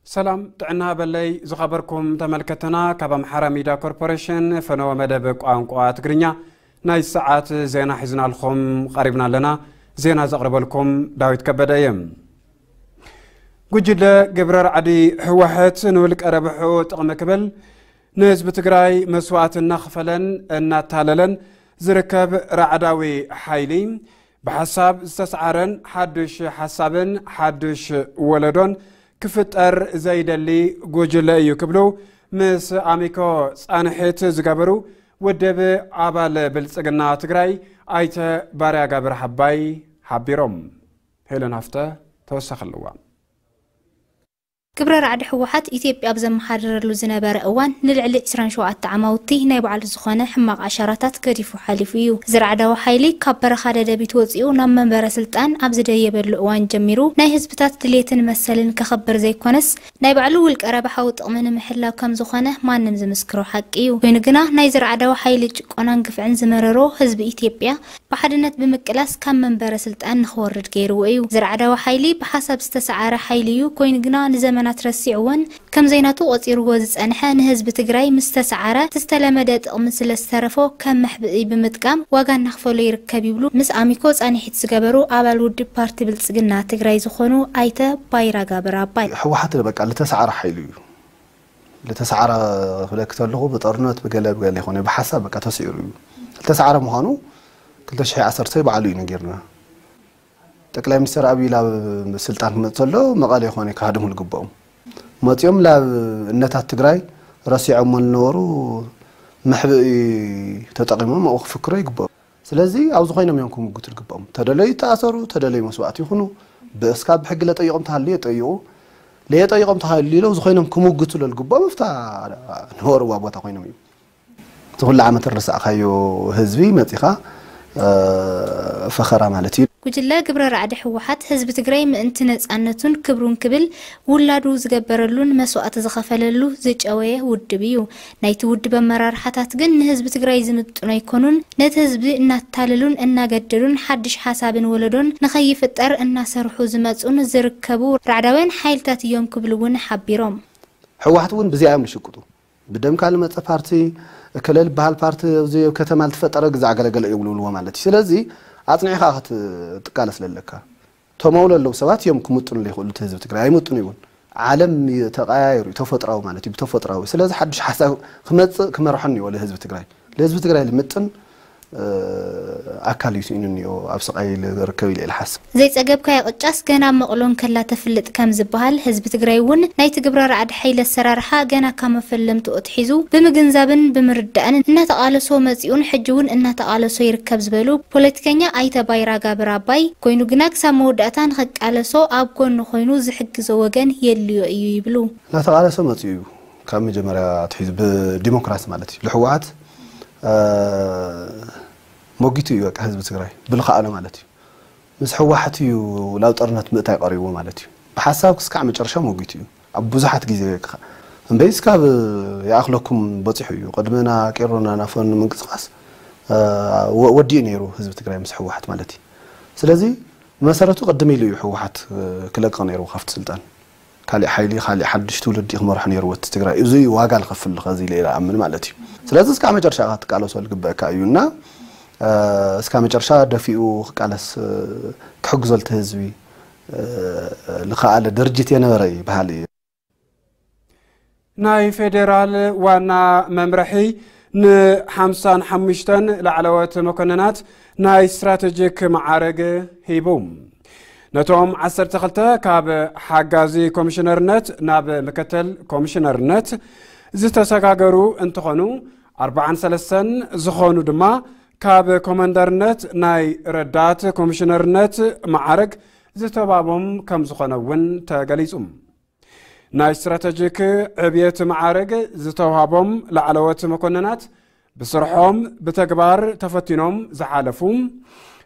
ሰላም ጥዕና በለይ ዝኸበርኩም ተመልከተና፣ ካብ ኣምሓራ ሚድያ ኮርፖሬሽን ፈነወ መደብ ቋንቋ ትግርኛ ናይ ሰዓት ዜና ሒዝናልኩም ቀሪብና ኣለና። ዜና ዘቕርበልኩም ዳዊት ከበደ እየ። ጉጅለ ግብረ ራዕዲ ህወሓት ንውልቀ ረብሑ ጥቕሚ ክብል ንህዝቢ ትግራይ መስዋእቲ እናኽፈለን እናታለለን ዝርከብ ራዕዳዊ ሓይሊ፣ ብሓሳብ ዝተሰዓረን ሓዱሽ ሓሳብን ሓዱሽ ወለዶን ክፍጠር ዘይደሊ ጉጅለ እዩ ክብሉ ምስ ኣሚኮ ጻንሒት ዝገበሩ ውድብ ኣባል ብልጽግና ትግራይ ኣይተ ባርያ ጋብር ሓባይ ሓቢሮም። ሄለን ሃፍተ ተወሳኺ ኣለዋ። ግብረ ራዕዲ ህወሓት ኢትዮጵያ ኣብ ዘመሓድረሉ ዝነበረ እዋን ንልዕሊ ዕስራን ሸውዓተ ዓማውቲ ናይ ባዕሉ ዝኾነ ሕማቕ ኣሻራታት ገዲፉ ሓሊፉ እዩ። እዚ ራዕዳዊ ሓይሊ ካብ በረኻ ደደቢት ወፂኡ ናብ መንበረ ስልጣን ኣብ ዝደየበሉ እዋን ጀሚሩ ናይ ህዝብታት ድሌትን መሰልን ከኸብር ዘይኮነስ ናይ ባዕሉ ውልቀ ረብሓዊ ጥቕሚ ንምሕላው ከም ዝኾነ ማንም ዝምስክሮ ሓቂ እዩ። ኮይኑ ግና ናይዚ ራዕዳዊ ሓይሊ ጭቆናን ግፍዕን ዝመረሮ ህዝቢ ኢትዮጵያ ብሓድነት ብምቅላስ ካብ መንበረ ስልጣን ንኽወርድ ገይርዎ እዩ። ዝራዕዳዊ ሓይሊ ብሓሳብ ዝተሰዓረ ሓይሊ እዩ። ኮይኑ ግና ንዘመናት ረሲዕዎን ከም ዘይናቱ ቆጺርዎ ዝጸንሐ ንህዝቢ ትግራይ ምስ ተሰዓረ እቲ ዝተለመደ ጥቕሚ ስለ ዝተረፎ ከም መሕብኢ ብምጥቃም ዋጋ እናኽፈሎ ይርከብ ይብሉ ምስ ኣሚኮ ጻንሒት ዝገበሩ ኣባል ውድብ ፓርቲ ብልጽግና ትግራይ ዝኾኑ ኣይተ ባይራ ጋብር ኣባይ። ህወሓት በቃ ዝተሰዓረ ሓይሊ እዩ። ዝተሰዓረ ክብለኪ ተለኹ ብጦርነት ብገለ ብገለ ይኾነ ብሓሳብ በቃ ተስዒሩ እዩ። ዝተሰዓረ ምዃኑ ክልተ ሽሕ ዓሰርተ ባዕሉ እዩ ነጊርና። ጠቅላይ ሚኒስትር ኣብይ ላብ ስልጣን ክመጽእ ከሎ መቐለ ይኾነ ክሃድሙ ዝግብኦም መጺኦም ላብ እነታት ትግራይ ረሲዖሞ ዝነበሩ መሕብኢ ተጠቂሞም ኣብኡ ክፍክሮ ይግብኦም። ስለዚ ኣብዚ ኮይኖም እዮም ክምጉቱ ዝግብኦም። ተደለዩ ይተኣሰሩ፣ ተደለዩ መስዋእቲ ይኹኑ። ብእስካ ብሕጊ ለጠይቆም ተሃልዩ የጠይቁ፣ ለየጠይቆም ተሃልዩ ለው ዝኾይኖም ክምጉቱ ለልግብኦም እፍታ ንወርዋ ቦታ ኮይኖም እዮም። እቲ ኩሉ ዓመት ረሳእካዮ ህዝቢ መጺኻ ፈኸራ ማለት እዩ። ጉጅለ ግብረ ራዕዲ ህወሓት ህዝቢ ትግራይ ምእንቲ ነፃነቱን ክብሩን ክብል ውላዱ ዝገበረሉን መስዋእቲ ዝኸፈለሉ ዝጨወየ ውድብ እዩ። ናይቲ ውድብ ኣመራርሓታት ግን ንህዝቢ ትግራይ ዝምጥኑ ኣይኮኑን። ነቲ ህዝቢ እናታለሉን እናገደዱን ሓድሽ ሓሳብን ወለዶን ንኸይፍጠር እናሰርሑ ዝመፁን ዝርከቡ ራዕዳውያን ሓይልታት እዮም ክብሉ እውን ሓቢሮም። ህወሓት እውን ብዚኣ እዮም ዝሽቅጡ። ብደምካ ዝመፀ ፓርቲ፣ እከለ ዝበሃል ፓርቲ ኣብዚ ኣብ ከተማ ዝተፈጠረ ግዛዕ ገለገለ እዮም ዝብልዎ ማለት እዩ። ስለዚ ኣፅኒዕኻ ክትቃለስ ለለካ። ተመውሎ ኣለዉ ሰባት እዮም ክምጥኑ ዘይኽእሉ እቲ ህዝቢ ትግራይ ኣይምጥኑ ይውን። ዓለም ተቐያየሩ እዩ፣ ተፈጥራዊ ማለት እዩ፣ ብተፈጥራዊ። ስለዚ ሓድሽ ሓሳብ ክመፅእ ክመርሖን እዩ ለህዝቢ ትግራይ። ለህዝቢ ትግራይ ልምጥን ኣካል እዩ ስኢኑ እኒኦ ኣብ ስቓይ ዝርከብ ኢለ ኢለ ሓስብ። ዘይጸገብካዮ ቅጫስ ገና መቕሎ እንከላ ተፍልጥ ከም ዝበሃል ህዝቢ ትግራይ እውን ናይቲ ግብረ ራዕዲ ሓይሊ ኣሰራርሓ ገና ካብ መፈለምትኡ ኣትሒዙ ብምግንዛብን ብምርዳእን እናተቓለሶ መጺኡን ሕጂ እውን እናተቓለሶ ይርከብ ዝበሉ ፖለቲከኛ ኣይተ ባይራ ጋብር ኣባይ ኮይኑ ግና ክሳብ መወዳእታ ንኸቃለሶ ኣብ ጎኑ ኮይኑ ዝሕግዞ ወገን የልዮ እዩ ይብሉ። እናተቓለሰ መፂኡ እዩ። ካብ መጀመርያ ኣትሒዙ ብዲሞክራሲ ማለት እዩ። ልሕወሓት መጊቱ እዩ በቃ ህዝቢ ትግራይ ብልኸኣሎ ማለት እዩ። ምስ ሕወሓት እዩ ላብ ጦርነት ምእታይ ቀሪቡ ማለት እዩ። ብሓሳብ ክስካዕ መጨረሻ መጊቱ እዩ ኣብ ብዙሓት ግዜ። እምበይስ ካብ ይኣኽለኩም በፂሑ እዩ። ቅድምና ቄሮና ናፈኑ ምንቅስቃስ ወዲኡ ነይሩ ህዝቢ ትግራይ ምስ ሕወሓት ማለት እዩ። ስለዚ ብመሰረቱ ቅድም ኢሉ እዩ ሕወሓት ክለቅቕ ነይሩ ካብቲ ስልጣን። ካሊእ ሓይሊ ካሊእ ሓድሽ ትውልዲ ክመርሖ ነይርዎ እቲ ትግራይ። እዚ ዋጋ ዝኸፍል ከዚ ኢለ ኢለ ኣምን ማለት እዩ። ስለዚ እስካ መጨረሻ ክትቃለሶ ዝግበእካ እዩ እና እስካ መጨረሻ ደፊኡ ክቃለስ ክሕግዞ ልቲ ህዝቢ ልኸኣለ ድርጅት የነበረ እዩ በሃሊ እዩ። ናይ ፌዴራል ዋና መምርሒ ንሓምሳን ሓሙሽተን ላዕለዎት መኮንናት ናይ ስትራቴጂክ መዓርግ ሂቡ። ነቶም ዓሰርተ ክልተ ካብ ሓጋዚ ኮሚሽነርነት ናብ ምክትል ኮሚሽነርነት ዝተሰጋገሩ እንትኾኑ ኣርባዓን ሰለስተን ዝኾኑ ድማ ካብ ኮመንደርነት ናይ ረዳት ኮሚሽነርነት መዓርግ ዝተባቦም ከም ዝኾነ እውን ተገሊጹ። ናይ ስትራተጂክ ዕብየት ማዕረግ ዝተውሃቦም ላዕለዎት መኮንናት ብስርሖም ብተግባር ተፈቲኖም ዝሓለፉ፣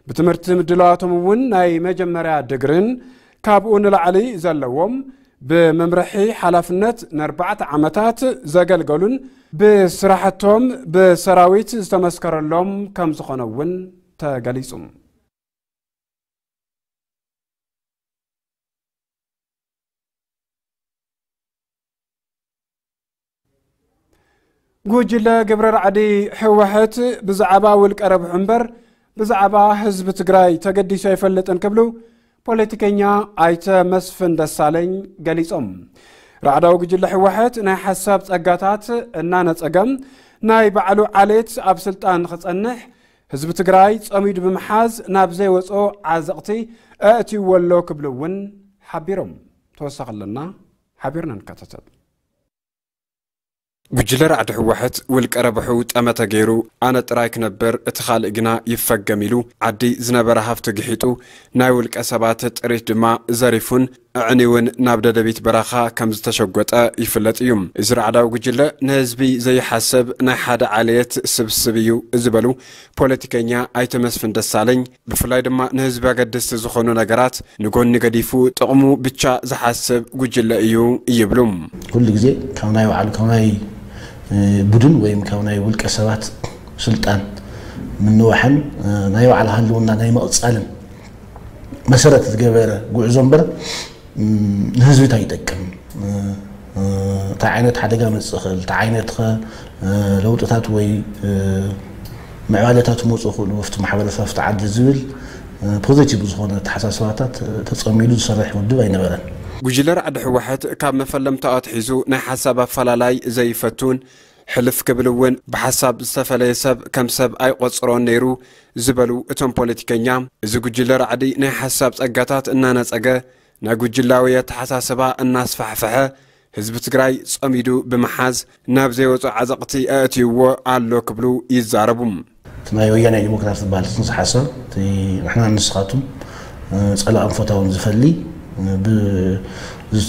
ብትምህርቲ ምድላዋቶም እውን ናይ መጀመርያ ድግርን ካብኡ ንላዕሊ ዘለዎም፣ ብመምርሒ ሓላፍነት ንኣርባዕተ ዓመታት ዘገልገሉን ብስራሕቶም ብሰራዊት ዝተመስከረሎም ከም ዝኾነ እውን ተገሊጹ። ጉጅለ ግብረ ራዕዲ ህወሓት ብዛዕባ ውልቀ ረብሑ እምበር ብዛዕባ ህዝቢ ትግራይ ተገዲሱ ኣይፈልጥን ክብሉ ፖለቲከኛ ኣይተ መስፍን ደሳለኝ ገሊጾም። ራዕዳዊ ጉጅለ ህወሓት ናይ ሓሳብ ጸጋታት እናነጸገ ናይ ባዕሉ ዓሌት ኣብ ስልጣን ንኽጸንሕ ህዝቢ ትግራይ ጸሚዱ ብምሓዝ ናብ ዘይወጾ ዓዘቕቲ ኣእትይዎ ኣሎ ክብሉ እውን ሓቢሮም። ተወሳኺ ኣለና፣ ሓቢርና ንከታተል። ጉጅለ ራዕዲ ህወሓት ውልቀ ረብሑ ጠመተ ገይሩ ኣነ ጥራይ ክነብር እቲ ካልእ ግና ይፈገም ኢሉ ዓዲ ዝነበረ ሃፍቲ ግሒጡ ናይ ውልቀ ሰባት ጥሪት ድማ ዘሪፉን ኣዕንዩን ናብ ደደቢት በረኻ ከም ዝተሸጎጠ ይፍለጥ እዩ። እዚ ራዕዳዊ ጉጅለ ንህዝቢ ዘይሓስብ ናይ ሓደ ዓሌት ስብስብ እዩ ዝበሉ ፖለቲከኛ ኣይተ መስፍን ደሳለኝ ብፍላይ ድማ ንህዝቢ ኣገደስቲ ዝኾኑ ነገራት ንጎኒ ገዲፉ ጥቕሙ ብቻ ዝሓስብ ጉጅለ እዩ ይብሉ። ኩሉ ግዜ ካብ ናይ ባዕሉ ካብ ናይ እ፣ ቡድን ወይም ካብ ናይ ውልቀ ሰባት ስልጣን ምንዋሕን እ፣ ናይ ባዕሉ ህልውና ናይ መቕጻልን መሰረት ዝገበረ ጉዕዞ እምበር ም፣ ንህዝቢ እንታይ ይጠቅም እ፣ እ፣ እንታይ ዓይነት ሓደጋ መጽእ ይኽእል እንታይ ዓይነት ኸ እ፣ ለውጥታት ወይ እ፣ ምዕባለታት ክመፁ ይኽእሉ ኣብቲ ማሕበረሰብ ኣብቲ ዓዲ ዝብል ፖዚቲቭ ዝኾነ ኣተሓሳስባታት ተፀሚዱ ዝሰርሕ ውድብ ኣይነበረን። ጉጅለ ራዕዲ ህወሓት ካብ መፈለምታኡ ኣትሒዙ ናይ ሓሳብ ኣፈላላይ ዘይፈቱን ሕልፍ ክብል እውን ብሓሳብ ዝተፈለየ ሰብ ከም ሰብ ኣይቆፅሮን ነይሩ ዝበሉ እቶም ፖለቲከኛ፣ እዚ ጉጅለ ራዕዲ ናይ ሓሳብ ፀጋታት እናነፀገ ናይ ጉጅላዊ ኣተሓሳስባ እናስፋሕፈሐ ህዝቢ ትግራይ ጸሚዱ ብምሓዝ ናብ ዘይወጾ ዓዘቕቲ ኣእትይዎ ኣሎ ክብሉ ይዛረቡ። እቲ ናይ ወያናይ ዲሞክራሲ ዝበሃል ጽንሰ ሓሳብ እቲ ንሕና ንስኻቱም ጸላእን ፈታውን ዝፈሊ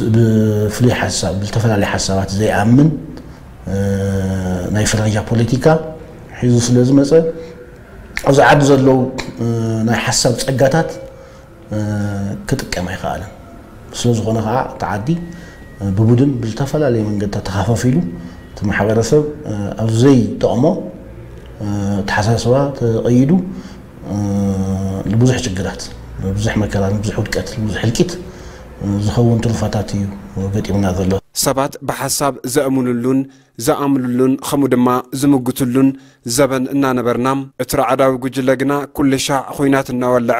ብፍሉይ ሓሳብ ብዝተፈላለየ ሓሳባት ዘይኣምን ናይ ፍረጃ ፖለቲካ ሒዙ ስለ ዝመጸ ኣብዚ ዓዲ ዘለዉ ናይ ሓሳብ ጸጋታት ክጥቀም ኣይኸኣለን። ስለ ዝኾነ ከዓ እቲ ዓዲ ብቡድን ብዝተፈላለየ መንገድታት ተኸፋፊሉ እቲ ማሕበረሰብ ኣብ ዘይጠቕሞ ኣተሓሳስባ ተቐይዱ ንብዙሕ ችግራት፣ ንብዙሕ መከራ፣ ንብዙሕ ውድቀት፣ ንብዙሕ ህልቂት ዝኸውን ትሩፋታት እዩ ገጢሙና ዘሎ። ሰባት ብሓሳብ ዘእምኑሉን ዝኣምኑሉን ከምኡ ድማ ዝምጉትሉን ዘበን እናነበርና፣ እቲ ራዕዳዊ ጉጅለ ግና ኩሉ ሻዕ ኹናት እናወለዐ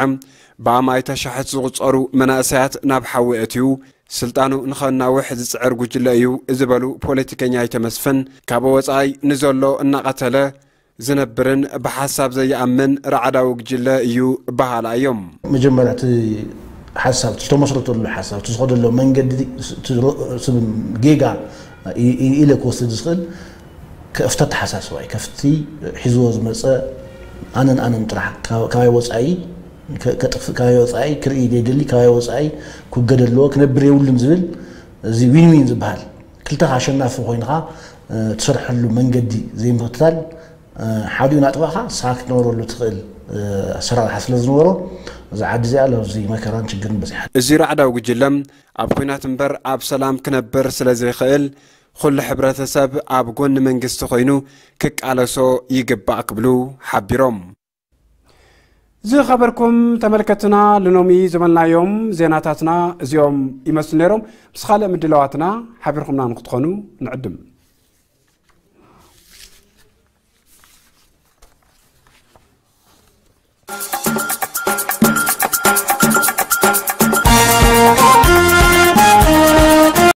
ብኣማኢተ ሻሕት ዝቑጸሩ መናእሰያት ናብ ሓዊ ኣእትዩ ስልጣኑ ንኸናውሕ ዝጽዕር ጉጅለ እዩ ዝበሉ ፖለቲከኛ ኣይተ መስፍን፣ ካብ ወጻኢ ንዘሎ እናቐተለ ዝነብርን ብሓሳብ ዘይኣምን ራዕዳዊ ጉጅለ እዩ በሃላ እዮም። መጀመርያ እቲ ሓሳብ፣ እቲ ዝተመስረተሉ ሓሳብ፣ እቲ ዝኸደሎ መንገዲ፣ እቲ ሮ-፣ ስብ-፣ ጌጋ ኢ-፣ ኢ-፣ ኢለ ክወስድ ዝኽእል ከፍቲ ኣተሓሳስባ እዩ። ከፍቲ ሒዝዎ ዝመፀ ኣነን ኣነን ጥራሕ፣ ካብ-፣ ካባይ ወፃኢ ከ-፣ ከጥፍ-፣ ካባይ ወፃኢ ክርኢ ዘይደሊ፣ ካባይ ወፃኢ ክውገድ ኣለዎ፣ ክነብር የብሉን ዝብል፣ እዚ ዊን ዊን ዝበሃል፣ ክልተኻ ኣሸናፊ ኮይንኻ፣ እ፣ ትሰርሐሉ መንገዲ ዘይምኽታል፣ እ፣ ሓዲኡ ናጥፋእኻ ንስኻ ክትነብረሉ ትኽእል፣ እ፣ ኣሰራርሓ ስለ ዝነበሮ፣ እዛ ዓዲ እዚኣ ኣብዚ መከራን ችግርን በፂሓ። እዚ ራዕዳዊ ጉጅለ ኣብ ኲናት እምበር ኣብ ሰላም ክነብር ስለ ዘይኽእል፣ ኩሉ ሕብረተሰብ ኣብ ጎኒ መንግስቲ ኮይኑ ክቃለሶ ይግባእ ክብሉ ሓቢሮም። ዝኸበርኩም ተመልከትና፣ ልኖሚ ዝበልናዮም ዜናታትና እዚኦም ይመስሉ ነይሮም። ምስ ካልእ ምድላዋትና ሓቢርኩምና ንክትኾኑ ንዕድም።